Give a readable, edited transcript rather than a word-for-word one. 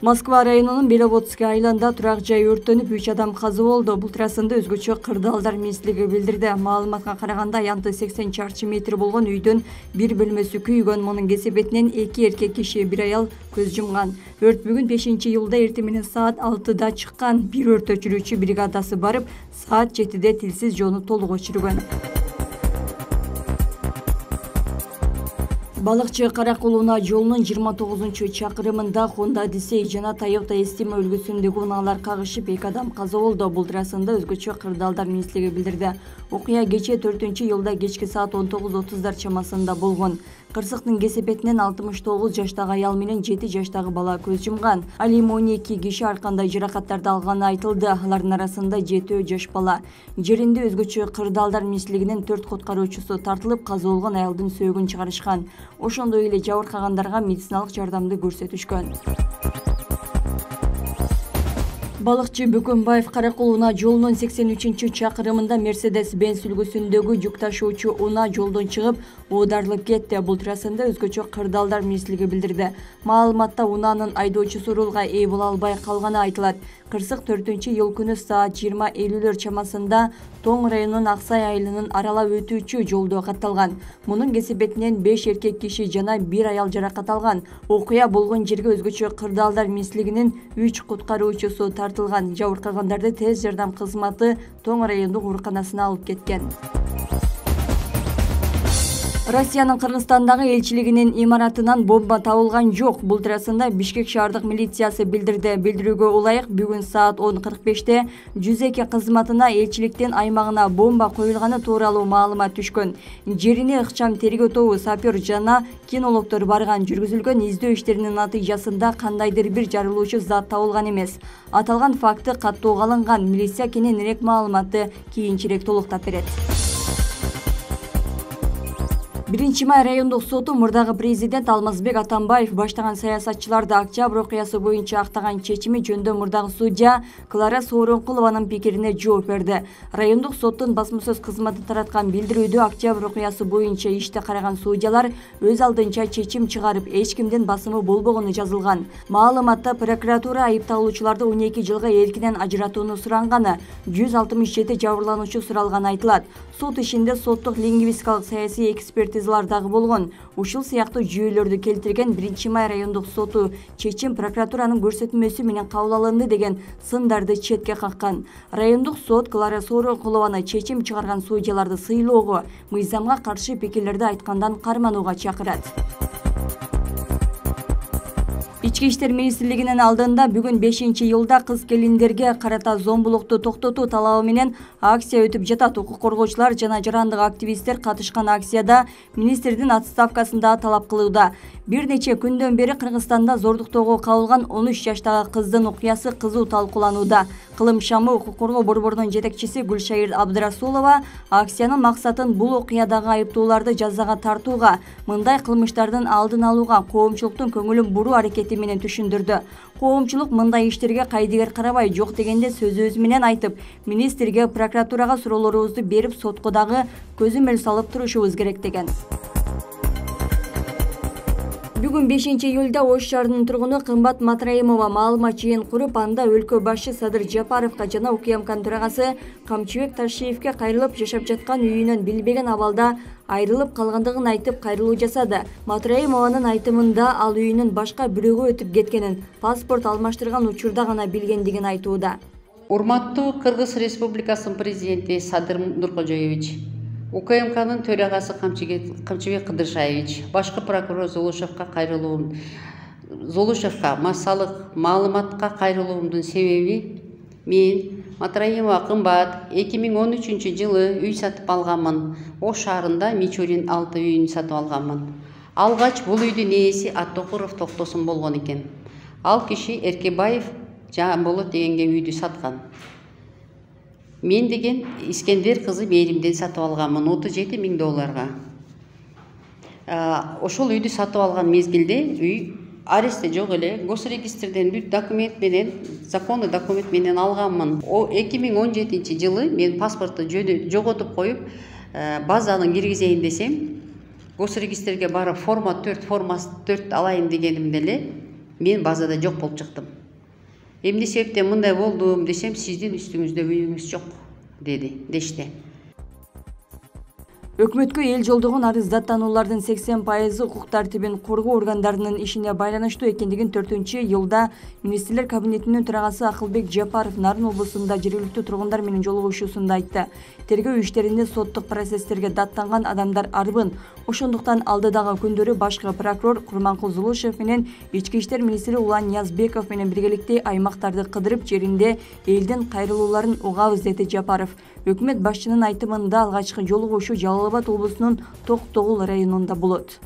Москва районунун Беловодский айылында турак жай өрттөнүп 3 адам каза болду. Бул туурасында өзгөчө кырдаалдар министрлиги билдирди. Маалыматка караганда аянты 80 чарчы метр болгон үйдөн бир бөлмөсү күйгөн. Мунун кесепетинен 2 эркек киши, 1 аял көз жумган. Өрт бүгүн 5-июлда эртең менен саат 6-да чыккан. Бир өрт өчүрүүчү бригадасы барып, саат 7-де тилсиз жоону толук өчүргөн. Балыкчы Каракул унаа жолунун 29-чакырымында Honda Odyssey жана Toyota Estima үлгүсүндөгү унаалар кагышып 2 адам каза болду. Бул туурасында өзгөчө кырдаалдар министрлиги билдирди. Окуя кечээ 4-июлда кечки саат 19:30 чамасында болгон. Кырсыктын кесепетинен 69 жаштагы аял менен 7 жаштагы бала көз жумган. Ал эми 12 киши ар кандай жаракаттарды алганы айтылды. Алардын арасында 7 жаш бала. Жеринде өзгөчө кырдаалдар министрлигинин 4 куткаруучусу тартылып, каза болгон аялдын сөөгүн чыгарышкан. Ошондой эле жабыркагандарга медициналык жардамды көрсөтүшкөн. Балыкчы Бөкөнбаев Каракул унаа жолунун 83-чакырымында Mercedes-Benz үлгүсүндөгү жүк ташуучу унаа жолдон чыгып, оодарылып кетти. Бул туурасында өзгөчө кырдаалдар министрлиги билдирди. Маалыматта унаанын айдоочусу рулга ээ боло албай калганы айтылат. Кырсык 4-июл күнү саат 20:50 чамасында Тоң районунун Аксай айылынын аралап өтүүчү жолдо катталган. Мунун кесепетинен 5 эркек киши жана 1 аял жаракат алган. Окуя болгон жерге өзгөчө кырдаалдар министрлигинин 3 куткаруучусу тартылган. Жабыркагандарды тез жардам кызматы Тоң райондук ооруканасына алып кеткен. Россиянын Кыргызстандагы элчилигинин имаратынан бомба табылган жок. Бул туурасында Бишкек шаардык милициясы билдирди. Билдирүүгө ылайык бүгүн саат 10:45-те 102 кызматына элчиликтин аймагына бомба коюлганы тууралуу маалымат түшкөн. Жерине ыкчам тергөө тобу, сапер жана кинологдор барган. Жүргүзүлгөн издөө иштеринин натыйжасында кандайдыр бир жарылуучу зат табылган эмес. Аталган факты каттоого алынган. Милиция кененирээк маалыматты кийинчерээк толуктап берет. 1-май райондук соту мурдагы президент Алмазбек Атамбаев баштаган саясатчыларды октябрь окуясы боюнча актаган чечими жөнүндө мурдагы судья Клара Сооронкулованын пикирине жооп берди. Райондук соттун басма сөз кызматы тараткан билдирүүдө октябрь окуясы боюнча ишти караган судьялар өз алдынча чечим чыгарып, эч кимдин басымы болбогону жазылган. Маалыматта прокуратура айыпталуучуларды 12 жылга эркинен ажыратууну суранганы, 167 жабырлануучу суралганы айтылат. Сот ишинде соттук лингвистикалык саясий экспертизалар дагы болгон. Ушул сыяктуу жүйөлөрдү келтирген 1-май райондук соту чечим прокуратуранын көрсөтмөсү менен кабыл алынды деген сындарды четке каккан. Райондук сот Клара Сооронкулованы чечим чыгарган судьяларды сыйлоого, мыйзамга каршы пикирлерди айткандан карманууга чакырат. Ички иштер министрлигинин алдында бүгүн 5-июлда кыз келиндерге карата зомбулукту токтотуу талабы менен акция өтүп жатат. Укук коргоочулар жана жарандык активисттер катышкан акцияда министрдин отставкасын да талап кылууда. Бир нече күндөн бери Кыргызстанда зордуктоого кабылган 13 жаштагы кыздын окуясы кызуу талкууланууда. Кылым шамы укук коргоо борборунун жетекчиси Гүлшайыр Абдрасулова акциянын максатын бул окуядагы айыптууларды жазага тартууга, мындай кылмыштардын алдын алууга, коомчулуктун көңүлүн буруу аракети менен түшүндүрдү. Коомчулук мындай иштерге кайдыгер карабай, жок дегенде сөз менен айтып, министрге, прокуратурага суроолорубузду берип, сотко дагы көзөмөл салып турушубуз керек деген. Бүгүн 5-июлда Ош шаарынын тургуну Кымбат Матраимова маалымат жыйын куруп, анда өлкө башы Садыр Жапаровго жана УКМКнын төрагасы Камчыбек Ташиевге кайрылып жашап жаткан үйүнөн билбеген абалда айрылып калгандыгын айтып кайрылуу жасады. Матраимованын айтымында ал үйүнүн башка бирөөгө өтүп кеткенин, паспорт алмаштырган учурда гана билгендигин айтууда. Урматтуу Кыргыз Республикасынын президенти Садыр Нуркожоевич, УКМКнын төрагасы Камчыбек Кыдыршаевич, башкы прокурор Золушевка массалык маалыматка кайрылуумдун себеби мен Матраимова Кымбат 2013 жылы үй сатып алганмын. Ош шаарында Мичурин 6 үйүн сатып алганмын. Алгач бул үйдүн ээси Аттокуров Токтосун болгон экен. Ал киши Эркебаев Жамболот дегенге үйдү саткан. Мен деген Искендер кызы Мээримден сатып алганмын $37.000. Ошол үйдү сатып алган мезгилде үй арестте жок эле, госрегистрден бүт документ менен, законный документ менен алганмын. 2017 жылы мен паспортту жоготуп коюп, базаны киргизейин десем, госрегистрге барып форма 4 алайын дегенимде эле мен базада жок болуп чыктым. Эмне себептен мындай болдум десем, сиздин үстүңүздө үйүңүз жок дешти. Өкмөткө эл жолдогон арыздаттануулардын 80% укук тартибин коргоо органдарынын ишине байланыштуу экендигин 4-июлда министрлер кабинетинин төрагасы Акылбек Жапаров Нарын облусунда жергиликтүү тургундар менен жолугушуусунда айтты. Тергөө иштеринде соттук процесстерге даттанган адамдар арбын. Ошондуктан алдыдагы күндөрү башкы прокурор Курманкул Зулушев менен ички иштер министри Улан Ниязбеков менен биргеликте аймактарды кыдырып жеринде элдин кайрылууларын угабыз, деди Жапаров. Өкмөт башчынын айтымында алгачкы жолугушуу Жалал Абад облусунун Токтогул районунда болот.